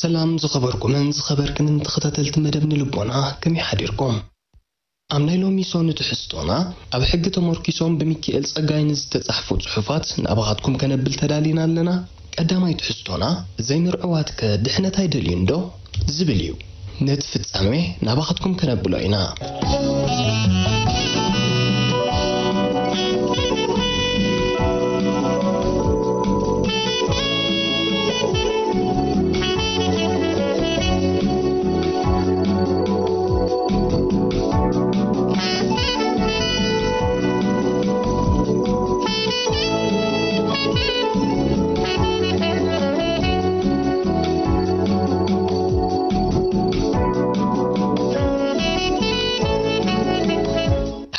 ሰላም ዝኸበርኩምን ዝኸበርክንን ተኸታተልቲ መደብ ንልቦና፣ ከመይ ሓዲርኩም? ኣብ ናይ ሎሚ ሶኒ ትሕዝቶና፣ ኣብ ሕጊ ተመርኪሶም ብሚካኤል ጸጋይ ንዝተጻሕፉ ጽሑፋት ናባኻትኩም ከነብል ተዳሊና ኣለና። ቀዳማይ ትሕዝቶና፣ ዘይምርዕዋትከ ድሕነት ኣይደልዩን ዶ? ዝብል እዩ። ነቲ ፍጻሜ ናባኻትኩም ከነብሎ ኢና።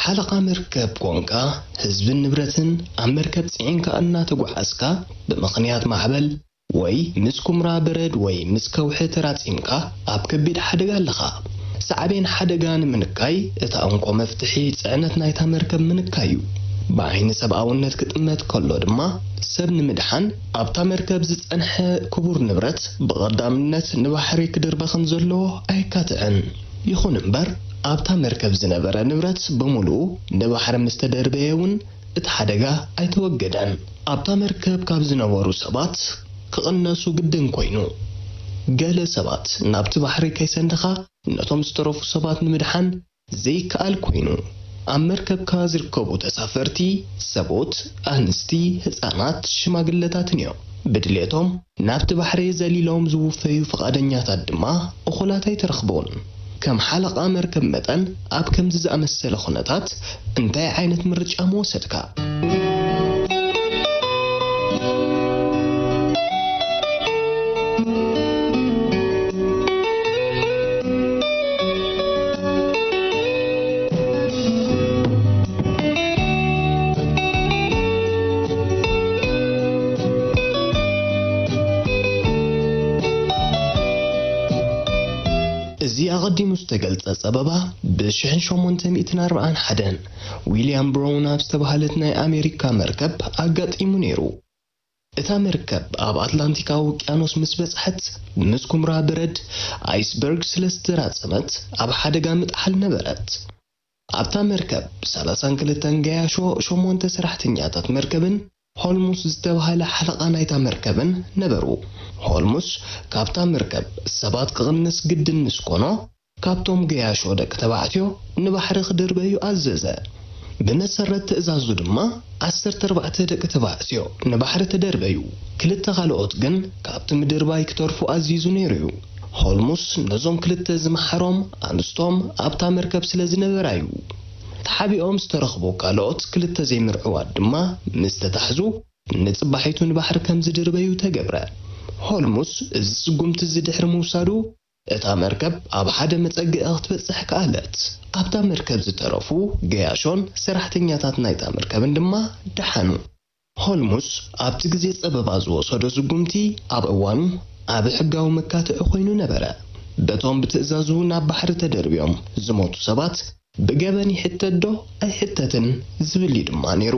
ሓለቓ መርከብ ኮንካ፣ ህዝብን ንብረትን ኣብ መርከብ ጽዒንካ እናተጓዓዝካ፣ ብምኽንያት ማዕበል ወይ ምስ ኩምራ በረድ ወይ ምስ ከውሒ ተራጺምካ ኣብ ከቢድ ሓደጋ ኣለኻ። ሳዕቤን ሓደጋ ንምንካይ፣ እታ እንኮ መፍትሒ ጽዕነት ናይታ መርከብ ምንካይ እዩ። ብዓይኒ ሰብኣውነት ክጥመት ከሎ ድማ፣ ሰብ ንምድሓን ኣብታ መርከብ ዝጸንሐ ክቡር ንብረት ብቐዳምነት ንባሕሪ ክድርበ ከም ዘለዎ ኣይካትዕን። ይኹን እምበር፣ ኣብታ መርከብ ዝነበረ ንብረት ብምሉኡ ንባሕሪ ምስ ተደርበየ እውን እቲ ሓደጋ ኣይተወገደን። ኣብታ መርከብ ካብ ዝነበሩ ሰባት ክቕነሱ ግድን ኮይኑ። ገለ ሰባት ናብቲ ባሕሪ ከይሰንደኻ ነቶም ዝተረፉ ሰባት ንምድሓን ዘይከኣል ኮይኑ። ኣብ መርከብካ ዝርከቡ ተሳፈርቲ ሰብኡት፣ ኣንስቲ፣ ህጻናት፣ ሽማግለታትን እዮም። ብድሌቶም ናብቲ ባሕሪ ዘሊሎም ዝውፈዩ ፍቓደኛታት ድማ እኹላት ኣይተረኽቡን። ከም ሓለቓ መርከብ መጠን፣ ኣብ ከምዚ ዝኣመሰለ ኩነታት እንታይ ዓይነት ምርጫ ምወሰድካ? እዚ ኣቐዲሙ ዝተገልጸ ጸበባ፣ ብ ሽሕን ሸሞንተ ሚእትን ኣርባዓን ሓደን ዊልያም ብራውን ኣብ ዝተባህለት ናይ ኣሜሪካ መርከብ ኣጋጢሙ ነይሩ። እታ መርከብ ኣብ ኣትላንቲካዊ ውቅያኖስ ምስ በጽሐት፣ ምስ ኩምራ በረድ፣ ኣይስበርግ፣ ስለ ዝተራጸመት፣ ኣብ ሓደጋ ምጥሓል ነበረት። ኣብታ መርከብ ሰላሳን ክልተን ገያሾ፣ ሸሞንተ ሰራሕተኛታት መርከብን ሆልሙስ ዝተባህለ ሓለቓ ናይታ መርከብን ነበሩ። ሆልሙስ ካብታ መርከብ ሰባት ክቕንስ ግድን ምስ ኮኖ፣ ካብቶም ገያሾ ደቂ ተባዕትዮ ንባሕሪ ክድርበዩ ኣዘዘ። ብመሰረት ትእዛዙ ድማ፣ ዓሰርተ ኣርባዕተ ደቂ ተባዕትዮ ንባሕሪ ተደርበዩ። ክልተ ካልኦት ግን ካብቲ ምድርባይ ክተርፉ ኣዚዙ ነይሩ እዩ። ሆልሙስ ነዞም ክልተ ዝመሓሮም ኣንስቶም ኣብታ መርከብ ስለ ዝነበራ እዩ። ተሓቢኦም ዝተረኽቡ ካልኦት ክልተ ዘይምርዕዋት ድማ ምስ ተታሕዙ፣ ንጽባሒቱ ንባሕሪ ከም ዝድርበዩ ተገብረ። ሆልሙስ እዚ ስጉምቲ እዚ ድሕሪ ምውሳዱ፣ እታ መርከብ ኣብ ሓደ መጸግዒ ክትበጽሕ ከኣለት። ኣብታ መርከብ ዝተረፉ ገያሾን ሰራሕተኛታት ናይታ መርከብን ድማ ደሓኑ። ሆልሙስ ኣብቲ ግዜ ጸበባ ዝወሰዶ ስጉምቲ ኣብ እዋኑ ዓቢ ሕጋዊ መካትዒ ኮይኑ ነበረ። በቶም ብትእዛዙ ናብ ባሕሪ ተደርብዮም ዝሞቱ ሰባት ብገበን ይሕተት ዶ ኣይሕተትን ዝብል እዩ ድማ ነይሩ።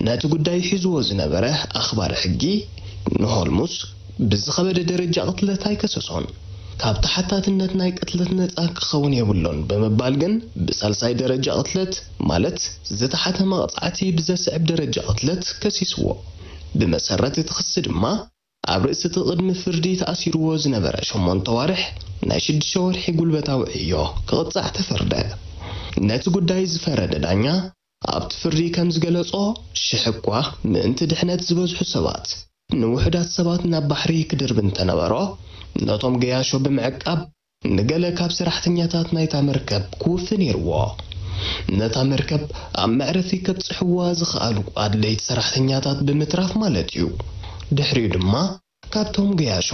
ነቲ ጉዳይ ሒዝዎ ዝነበረ ኣኽባሪ ሕጊ ንሆልሙስ ብዝኸበደ ደረጃ ቅትለት ኣይከሰሶን። ካብ ተሓታትነት ናይ ቅትለት ነጻ ክኸውን የብሉን ብምባል ግን ብሳልሳይ ደረጃ ቅትለት፣ ማለት ዝተሓተ መቕጻዕቲ ብዘስዕብ ደረጃ ቅትለት ከሲስዎ። ብመሰረት እቲ ክሲ ድማ፣ ኣብ ርእሲ እቲ ቅድሚ ፍርዲ ተኣሲርዎ ዝነበረ ሸሞንተ ኣዋርሕ ናይ ሽዱሽተ ወርሒ ጉልበታዊ ዕዮ ክቕጻዕ ተፈርደ። ነቲ ጉዳይ ዝፈረደ ዳኛ ኣብቲ ፍርዲ ከም ዝገለጾ፣ ሽሕ እኳ ምእንቲ ድሕነት ዝበዝሑ ሰባት ንውሑዳት ሰባት ናብ ባሕሪ ክድርቢ እንተነበሮ፣ ነቶም ገያሾ ብምዕቃብ ንገለ ካብ ሰራሕተኛታት ናይታ መርከብ ክውፊ ነይርዎ። ነታ መርከብ ኣብ መዕረፊ ከብጽሕዋ ዝኸኣሉ ኣድለይቲ ሰራሕተኛታት ብምትራፍ ማለት እዩ። ድሕሪኡ ድማ ካብቶም ገያሾ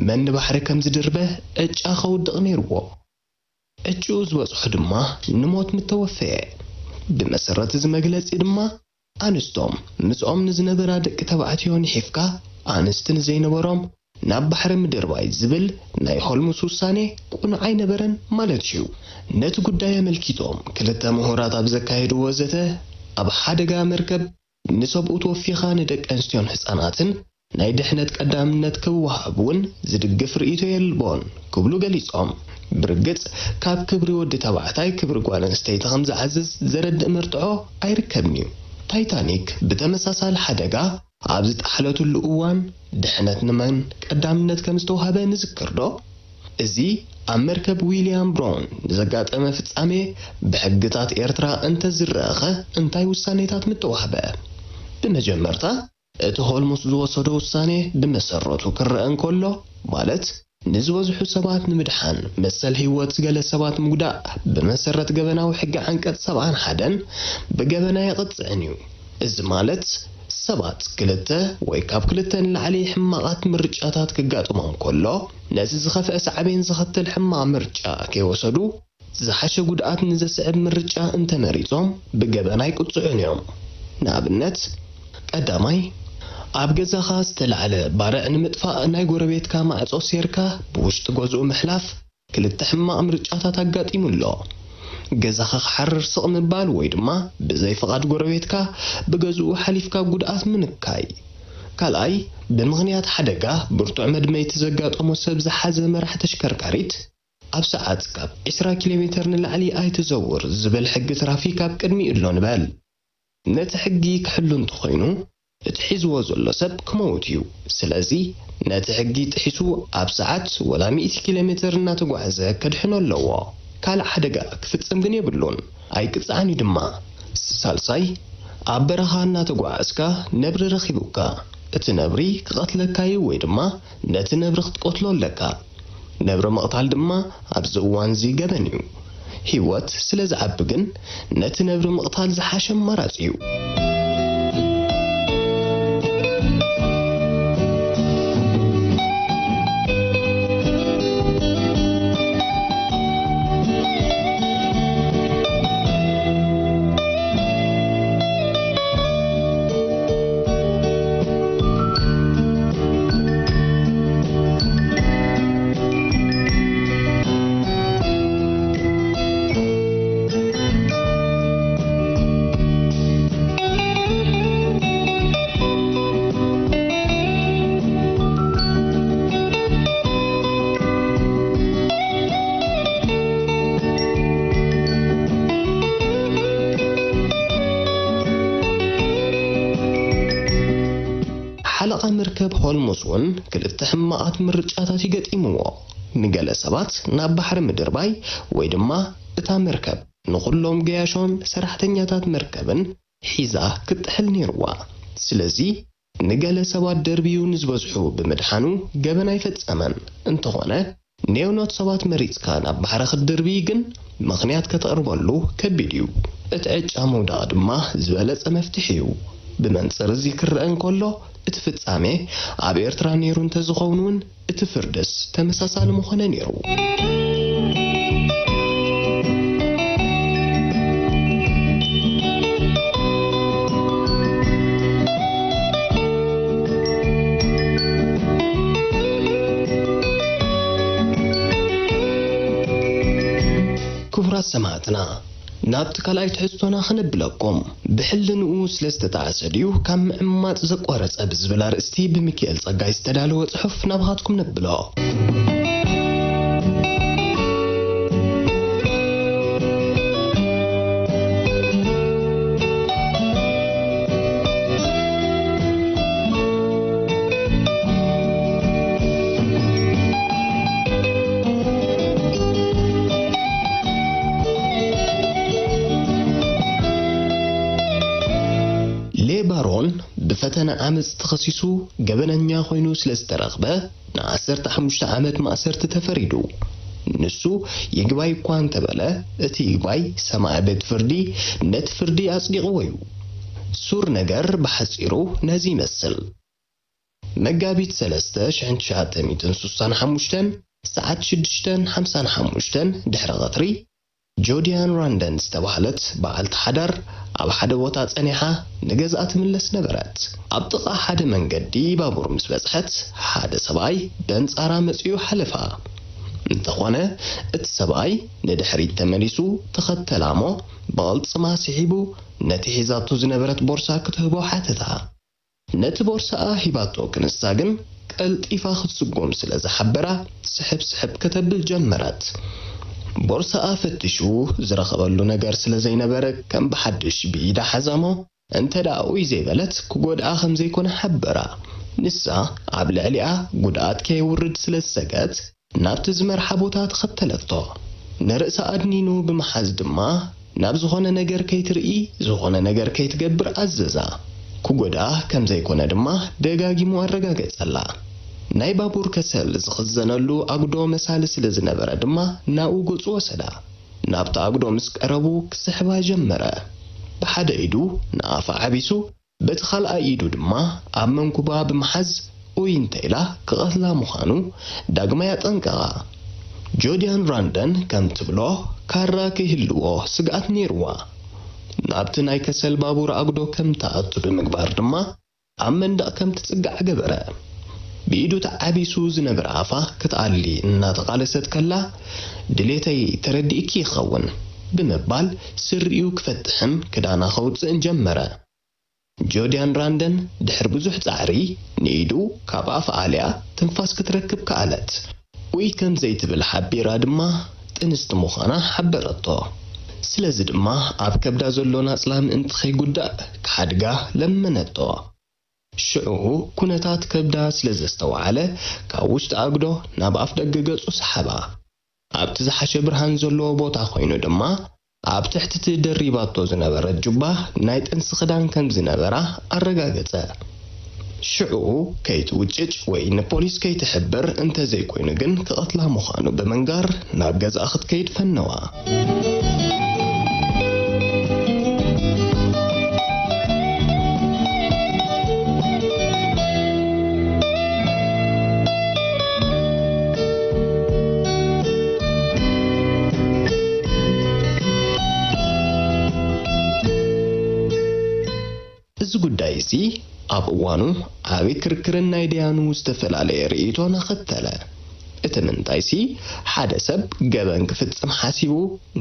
መን ንባሕሪ ከም ዝድርበ ዕጫ ከውድቕ ነይርዎ። ዕጭኡ ዝበጽሖ ድማ ንሞት ምተወፈየ። ብመሰረት እዚ መግለጺ ድማ ኣንስቶም ምስኦም ንዝነበራ ደቂ ተባዕትዮ ንሒፍካ ኣንስቲ ንዘይነበሮም ናብ ባሕሪ ምድርባይ ዝብል ናይ ሆልሙስ ውሳኔ ቅኑዕ ኣይነበረን ማለት እዩ። ነቲ ጉዳይ ኣመልኪቶም ክልተ ምሁራት ኣብ ዘካየድዎ ዘተ፣ ኣብ ሓደጋ መርከብ ንሰብኡት ወፊኻ ንደቂ ኣንስትዮን ህጻናትን ናይ ድሕነት ቀዳምነት ክወሃብ እውን ዝድግፍ ርእይቶ የልቦን ክብሉ ገሊጾም። ብርግጽ ካብ ክብሪ ወዲ ተባዕታይ ክብሪ ጓል ኣንስተይቲ ከም ዝዓዝዝ ዘረድእ መርትዖ ኣይርከብን እዩ። ታይታኒክ ብተመሳሳሊ ሓደጋ ኣብ ዝጠሓለትሉ እዋን ድሕነት ንመን ቀዳምነት ከም ዝተዋህበ ንዝክር ዶ? እዚ ኣብ መርከብ ዊልያም ብራውን ንዘጋጠመ ፍጻሜ ብሕግታት ኤርትራ እንተዝረኣኸ እንታይ ውሳኔታት ምተዋህበ? ብመጀመርታ እቲ ሆልሙስ ዝወሰዶ ውሳኔ ብመሰረቱ ክረአ እንከሎ፣ ማለት ንዝበዝሑ ሰባት ንምድሓን መሰል ህይወት ገለ ሰባት ምጉዳእ ብመሰረት ገበናዊ ሕጊ ዓንቀጽ ሰብዓን ሓደን ብገበና የቕጽዕን እዩ። እዚ ማለት ሰባት ክልተ ወይ ካብ ክልተ ንላዕሊ ሕማቓት ምርጫታት ክጋጥሞም ከሎ፣ ነቲ ዝኸፍአ ሳዕቤን ዘኸትል ሕማቕ ምርጫ ከይወሰዱ ዝሓሸ ጉድኣት ንዘስዕብ ምርጫ እንተመሪጾም ብገበን ኣይቅጽዑን እዮም። ንኣብነት፣ ቀዳማይ፣ ኣብ ገዛኻ ዝተላዕለ ባርዕ ንምጥፋእ ናይ ጎረቤትካ ማዕጾ ሴርካ ብውሽጢ ገዝኡ ምሕላፍ ክልተ ሕማቕ ምርጫታት ኣጋጢሙ ኣሎ። ገዛኻ ክሓርር ስቕ ምባል ወይ ድማ ብዘይ ፍቓድ ጎረቤትካ ብገዝኡ ሓሊፍካ ጉድኣት ምንካይ። ካልኣይ፣ ብምኽንያት ሓደጋ ብርቱዕ መድመይቲ ዘጋጠሞ ሰብ ዝሓዘ መራሕ ተሽከርካሪት ኣብ ሰዓት ካብ ዕስራ ኪሎ ሜተር ንላዕሊ ኣይትዘውር ዝብል ሕጊ ትራፊክ ኣብ ቅድሚኡ ኣሎ ንበል። ነቲ ሕጊ ክሕሉ እንተኾይኑ፣ እቲ ሒዝዎ ዘሎ ሰብ ክመውት እዩ። ስለዚ፣ ነቲ ሕጊ ጥሒሱ ኣብ ሰዓት ወላ ሚእቲ ኪሎ ሜተር እናተጓዕዘ ከድሕኖ ኣለዎ። ካልእ ሓደጋ ክፍጽም ግን የብሉን። ኣይቅጻዕን እዩ ድማ። ሳልሳይ፣ ኣብ በረኻ እናተጓዓዝካ ነብሪ ረኺቡካ፣ እቲ ነብሪ ክቐትለካ እዩ ወይ ድማ ነቲ ነብሪ ክትቀትሎ ኣለካ። ነብሪ ምቕታል ድማ ኣብዚ እዋን እዚ ገበን እዩ። ህይወት ስለ ዝዓቢ ግን ነቲ ነብሪ ምቕታል ዝሓሸ ኣማራጺ እዩ። ሓለቓ መርከብ ሆልሙዝ እውን ክልተ ሕማቓት ምርጫታት ይገጢምዎ። ንገለ ሰባት ናብ ባሕሪ ምድርባይ ወይ ድማ እታ መርከብ ንኹሎም ገያሾን ሰራሕተኛታት መርከብን ሒዛ ክትጥሕል ነይርዋ። ስለዚ ንገለ ሰባት ደርብዩ ንዝበዝሑ ብምድሓኑ ገበን ኣይፈጸመን። እንተኾነ ኔውኖት ሰባት መሪጽካ ናብ ባሕሪ ክትድርብይ ግን ምኽንያት ከተቕርበሉ ከቢድ እዩ። እቲ ዕጫ ምውዳቕ ድማ ዝበለጸ መፍትሒ እዩ። ብመንጽር እዚ ክረአ እንከሎ እቲ ፍጻሜ ኣብ ኤርትራ ነይሩ እንተዝኸውን እውን እቲ ፍርድስ ተመሳሳሊ ምኾነ ነይሩ። ክቡራት ሰማዕትና፣ ናብቲ ካልኣይ ትሕዝቶና ክነብለኩም፣ ብሕልንኡ ስለ ዝተጣዕሰ ድዩ ካብ ምዕማጽ ዘቋረጸ ብዝብል ኣርእስቲ ብሚኪኤል ጸጋይ ዝተዳለወ ጽሑፍ ናባኻትኩም ነብሎ። ሌባሮን ብፈተነ ዓመጽ ተኸሲሱ ገበነኛ ኮይኑ ስለ ዝተረኽበ ንዓሰርተ ሓሙሽተ ዓመት ማእሰርቲ ተፈሪዱ። ንሱ ይግባይ እኳ እንተበለ፣ እቲ ይግባይ ሰማዒ ቤት ፍርዲ ነቲ ፍርዲ ኣጽዲቕዎ እዩ። ሱር ነገር ብሓጺሩ ነዚ ይመስል። መጋቢት ሰለስተ ሽሕን ትሽዓተ ሚእትን ስሳን ሓሙሽተን ሰዓት ሽዱሽተን ሓምሳን ሓሙሽተን ድሕሪ ቐትሪ፣ ጆዲያን ራንደን ዝተባህለት በዓልቲ ሓዳር ኣብ ሓደ ቦታ ጸኒሓ ንገዝኣ ትምለስ ነበረት። ኣብ ጥቓ ሓደ መንገዲ ባቡር ምስ በጽሐት፣ ሓደ ሰብኣይ በንጻራ መጺኡ ሓለፋ። እንተኾነ፣ እቲ ሰብኣይ ንድሕሪት ተመሊሱ ተኸተላ እሞ፣ ብቕልጽማ ስሒቡ ነቲ ሒዛቶ ዝነበረት ቦርሳ ክትህቦ ሓተታ። ነቲ ቦርሳኣ ሂባቶ ክንሳ ግን፣ ቀልጢፋ ክትስጎም ስለ ዝሓበራ፣ ስሕብ ስሕብ ከተብል ጀመረት። ቦርሳኣ ፈቲሹ ዝረኸበሉ ነገር ስለ ዘይነበረ፣ ከም ብሓድሽ ብኢዳ ሓዛ እሞ፣ እንተ ደኣ ኡይ ዘይበለት፣ ክጎድኣ ከም ዘይኮነ ሓበራ። ንሳ ኣብ ልዕሊኣ ጉድኣት ከየውርድ ስለ ዝሰግአት፣ ናብቲ ዝመርሓ ቦታ ተኸተለቶ። ንርእሳ ኣድኒኑ ብምሓዝ ድማ፣ ናብ ዝኾነ ነገር ከይትርኢ፣ ዝኾነ ነገር ከይትገብር ኣዘዛ። ክጎድኣ ከም ዘይኮነ ድማ ደጋጊሙ ኣረጋገጸላ። ናይ ባቡር ከሰል ዝኽዘነሉ ኣጉዶ መሳሊ ስለ ዝነበረ ድማ፣ ናብኡ ገጹ ወሰዳ። ናብቲ ኣጉዶ ምስ ቀረቡ ክስሕባ ጀመረ። ብሓደ ኢዱ ንኣፋ ዓቢሱ፣ በቲ ካልኣይ ኢዱ ድማ ኣብ መንኩባ ብምሓዝ፣ ኡይ እንተ ኢላ ክቐትላ ምዃኑ ዳግማይ ኣጠንቀቓ። ጆዲያን ራንደን ከም ትብሎ፣ ካራ ከይህልዎ ስግኣት ነይርዋ። ናብቲ ናይ ከሰል ባቡር ኣጉዶ ከም ትኣቱ ብምግባር ድማ፣ ኣብ መንደቕ ከም ትጽጋዕ ገበረ። ብኢዱ ተዓቢሱ ዝነበረ ኣፋ ክትኣሊ እናተቓለሰት ከላ፣ "ድሌተይ ተረዲእኪ ይኸውን" ብምባል፣ ስሪኡ ክፈትሕን ክዳና ከውጽእን ጀመረ። ጆዲያን ራንደን ድሕሪ ብዙሕ ጻዕሪ፣ ንኢዱ ካብ ኣፍ ኣልያ ትንፋስ ክትረክብ ከኣለት። ኡይ ከም ዘይትብል ሓቢራ ድማ፣ ጥንስቲ ምዃና ሓበረቶ። ስለዚ ድማ፣ ኣብ ከብዳ ዘሎ ናጽላ ምእንቲ ከይጉዳእ ክሓድጋ ለመነቶ። ሽዑ፣ ኩነታት ከብዳ ስለ ዘስተውዓለ፣ ካብ ውሽጢ ኣጉዶ ናብ ኣፍ ደገ ገጹ ሰሓባ። ኣብቲ ዝሓሸ ብርሃን ዘለዎ ቦታ ኮይኑ ድማ፣ ኣብ ትሕቲ እቲ ደሪባቶ ዝነበረት ጁባ ናይ ጥንሲ ክዳን ከም ዝነበራ ኣረጋገጸ። ሽዑ፣ ከይትውጭጭ ወይ ንፖሊስ ከይትሕብር እንተ ዘይኮይኑ ግን፣ ክቐትላ ምዃኑ ብምንጋር ናብ ገዝኣ ክትከይድ ፈነዋ። እዚ ጉዳይ እዚ ኣብ እዋኑ ዓቢ ክርክርን ናይ ደያኑ ዝተፈላለየ ርእይቶን ኣኸተለ። እቲ ምንታይሲ፣ ሓደ ሰብ ገበን ክፍጽም ሓሲቡ፣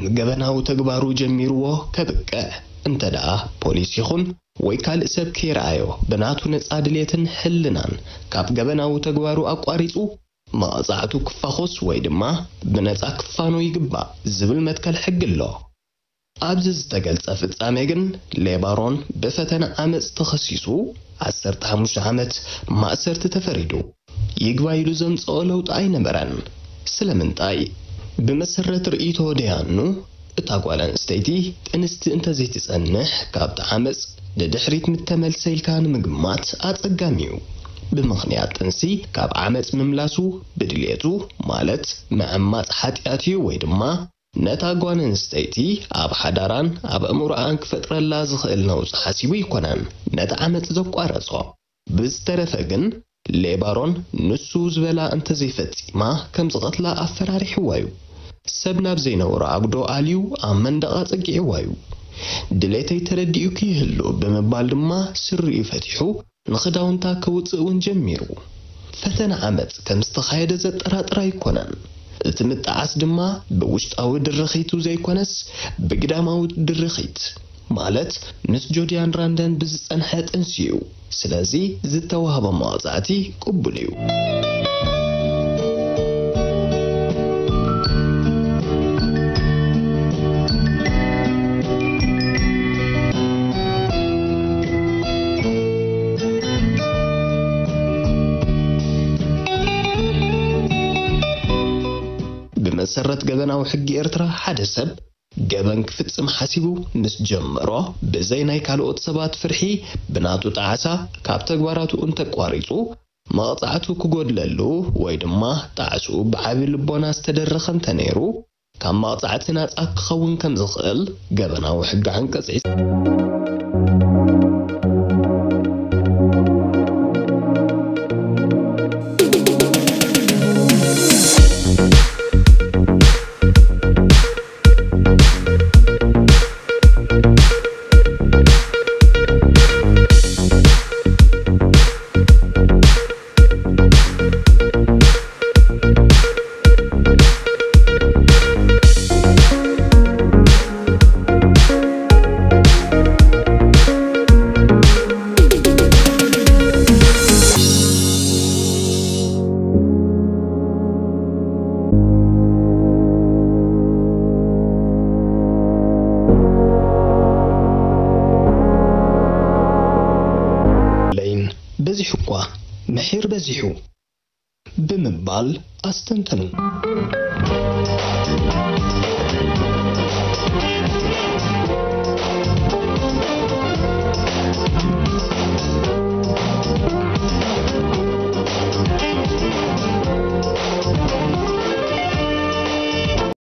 ንገበናዊ ተግባሩ ጀሚርዎ ከብቅዕ፣ እንተ ደኣ ፖሊስ ይኹን ወይ ካልእ ሰብ ከይረኣዮ፣ ብናቱ ነጻ ድሌትን ሕልናን ካብ ገበናዊ ተግባሩ ኣቋሪጹ፣ መቕጻዕቱ ክፋኾስ ወይ ድማ ብነጻ ክፋኖ ይግባእ ዝብል መትከል ሕጊ ኣሎ። ኣብዚ ዝተገልጸ ፍጻሜ ግን፣ ሌባሮን ብፈተነ ዓመጽ ተኸሲሱ፣ ዓሰርተ ሓሙሽተ ዓመት ማእሰርቲ ተፈሪዱ። ይግባይ ኢሉ ዘምጽኦ ለውጢ ኣይነበረን። ስለምንታይ? ብመሰረት ርእይቶ ደያኑ፣ እታ ጓል ኣንስተይቲ ጥንስቲ እንተዘይትጸንሕ፣ ካብቲ ዓመጽ ንድሕሪት ምተመልሰ ኢልካ ንምግማት ኣጸጋሚ እዩ። ብምኽንያት ጥንሲ ካብ ዓመጽ ምምላሱ ብድልየቱ፣ ማለት ምዕማጽ ሓጢኣት እዩ ወይ ድማ ነታ ጓል ኣንስተይቲ ኣብ ሓዳራን ኣብ ኣእምሮኣን ክፈጥረላ ዝኽእል ነውጺ ሓሲቡ ኣይኮነን ነቲ ዓመጽ ዘቋረጾ። ብዝተረፈ ግን፣ ሌባሮን ንሱ ዝበላ እንተዘይፈጺማ ከም ዝቐትላ ኣፈራሪሕዋ እዩ። ሰብ ናብ ዘይነበሮ ኣጉዶ ኣልዩ ኣብ መንደቕ ኣጸጊዕዋ እዩ። "ድሌተይ ተረዲኡኪ ይህሉ" ብምባል ድማ ስሪኡ ፈቲሑ ንኽዳውንታ ከውጽእ እውን ጀሚሩ። ፈተነ ዓመጽ ከም ዝተኻየደ ዘጠራጥር ኣይኮነን። እቲ ምጥዓስ ድማ ብውሽጣዊ ድርኺቱ ዘይኮነስ ብግዳማዊ ድርኺት፣ ማለት ምስ ጆዲያን ራንደን ብዝጸንሐ ጥንሲ እዩ። ስለዚ ዝተዋህቦ መቕጻዕቲ ቅቡል እዩ። ብመሰረት ገበናዊ ሕጊ ኤርትራ፣ ሓደ ሰብ ገበን ክፍጽም ሓሲቡ ምስ ጀመሮ፣ ብዘይ ናይ ካልኦት ሰባት ፍርሒ፣ ብናቱ ጣዕሳ ካብ ተግባራቱ እንተቋሪጹ፣ መቕጻዕቱ ክጎድለሉ ወይ ድማ ጣዕስኡ ብዓቢ ልቦና ዝተደረኸ እንተነይሩ፣ ካብ መቕጻዕቲ ናጻ ክኸውን ከም ዝኽእል ገበናዊ ሕጊ ዓንቀጽ ድሒር በዚሑ ብምባል ኣስተንተኑ።